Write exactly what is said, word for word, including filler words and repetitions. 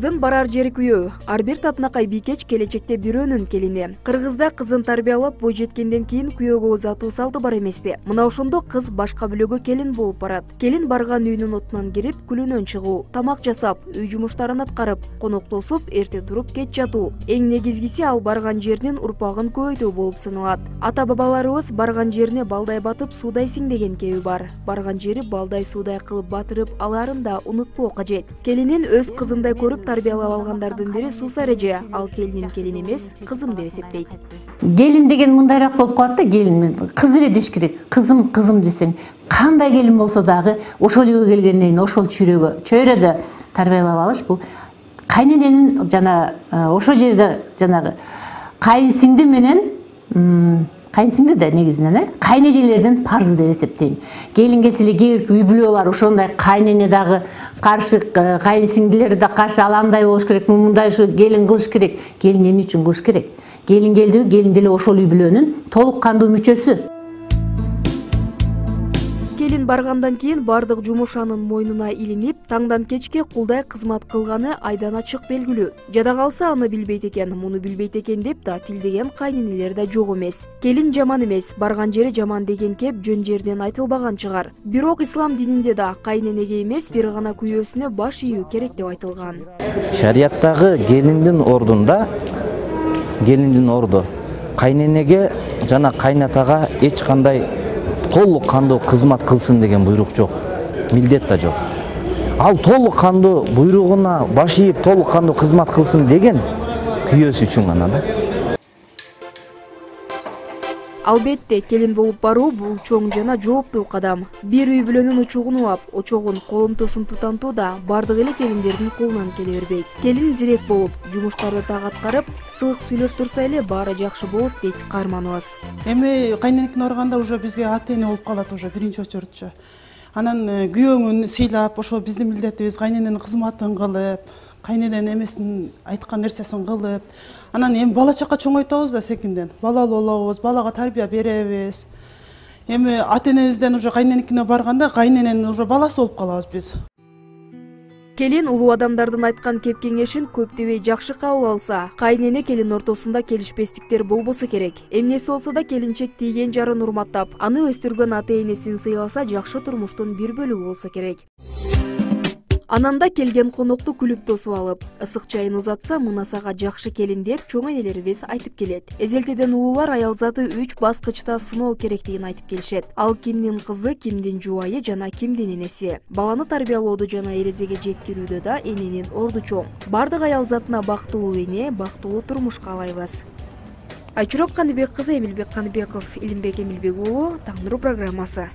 Кыздын барар жери күйөө. Ар бир татынакай бийкеч келечекте бирөөнүн келини. Кыргызда кызын тарбиялап бой жеткенден кийин күйөөгө узатуу салты бар эмеспи? Мына ошондо кыз башка бүлөгө келин болуп барат. Келин барган үйүнүн отунан кирип, күлүнөн чыгуу, тамак жасап, үй жумуштарын аткарып, коноктосуп, эрте туруп кеч жатуу. Эң негизгиси ал барган жеринин урпагын көбөйтүү болуп саналат. Ата-бабаларыбыз барган жерине балдай батып суудайсың деген кеби бар. Барган жери балдай суудай кылып батырып аларын да унутпоо кажет. Келинин өз кызындай көрүп тарбиялап алгандардын бири Сусар эже. Ал келинин келин эмес, кызым деп эсептейт. Келин деген мындайраак болуп калат да, келин кыз эле деш керек. Кызым, кызым десең, кандай келин болсо дагы ошол үйгө келгенден кийин ошол чөйрөгө, чөйрөдө тарбиялап алыш бул кайнененин жана ошол жерде жанагы кайынсиңди менен кайынсиңди да негизинен э кайнэжелердин парзы деп эсептейм. Келин келсе эле кээ бир үй бүлө бар, ошондой кайнене дагы каршы, кайынсиңдилери да каршы, ал андай болуш керек, мындай келин кылыш керек. Келин эмне үчүн кылыш керек? Келин келдиби, келин деле ошол үй бүлөнүн толук кандуу мүчөсү. Келин баргандан кийин бардык жумуш анын мойнуна илинип, таңдан кечке кулдай кызмат кылганы айдан ачык белгилүү. Жада калса аны билбейт экен, муну билбейт экен деп да тилдеген кайненелер да жок эмес. Келин жаман эмес, барган жери жаман деген кеп жөн жерден айтылбаган чыгар. Бирок ислам дининде да кайненеге эмес, бир гана күйөөсүнө баш ийүү керек деп айтылган. Шарияттагы келиндин ордунда, келиндин орду кайненеге жана кайнатага эч кандай толук кандуу кызмат кылсын деген буйрук жок, милдет да жок. Ал толук кандуу буйругуна баш ийип, толук кандуу кызмат кылсын деген күйөөсү үчүн гана да. Албетте, келин болуп баруу бул чоң жана жооптуу кадам. Бир үй бүлөнүн учугун улап, очогун, коломтосун тутантуу да бардык эле келиндердин колунан келе бербейт. Келин зирек болуп, жумуштарды так аткарып, сылык сүйлөп турса эле баары жакшы болот дейт каарманыбыз. Эми кайненекин барганда уже бизге ата-эне болуп калат уже биринчи очередче. Анан күйөөңүн сыйлап, ошо биздин милдетибиз, кайнененин кызматын кылып, кайнененин эмесин айткан нерсесин кылып, анан эми бала чака чоңойтобуз да секинден. Балалуу болобуз, балага тарбия беребиз. Эми ата-энебизден уже кайненекине барганда кайнененин уже баласы болуп калабыз биз. Келин улуу адамдардын айткан кеп кеңешин көп дебей жакшы кабыл алса, кайнене келин ортосунда келишпестиктер болбосо керек. Эмнеси болсо да келинчек тийген жарын урматтап, аны өстүргөн ата-энесин сыйласа жакшы турмуштун бир бөлүгү болсо керек. Ананда келген конокту күлүп тосуп алып, ысык чайын узатса, мына сага жакшы келин деп чоң энелерибиз айтып келет. Эзелтеден улуулар аял заты үч баскычта сыноо керектигин айтып келишет. Ал кимдин кызы, кимдин жубайы жана кимдин энеси. Баланы тарбиялоодо жана эрезеге жеткирүүдө да эненин орду чоң. Бардык аял затына бактылуу эне, бактылуу турмуш каалайбыз. Айчурак Каныбек кызы, Эмилбек Каныбеков, Илимбек Эмилбек уулу, Таң нуру программасы.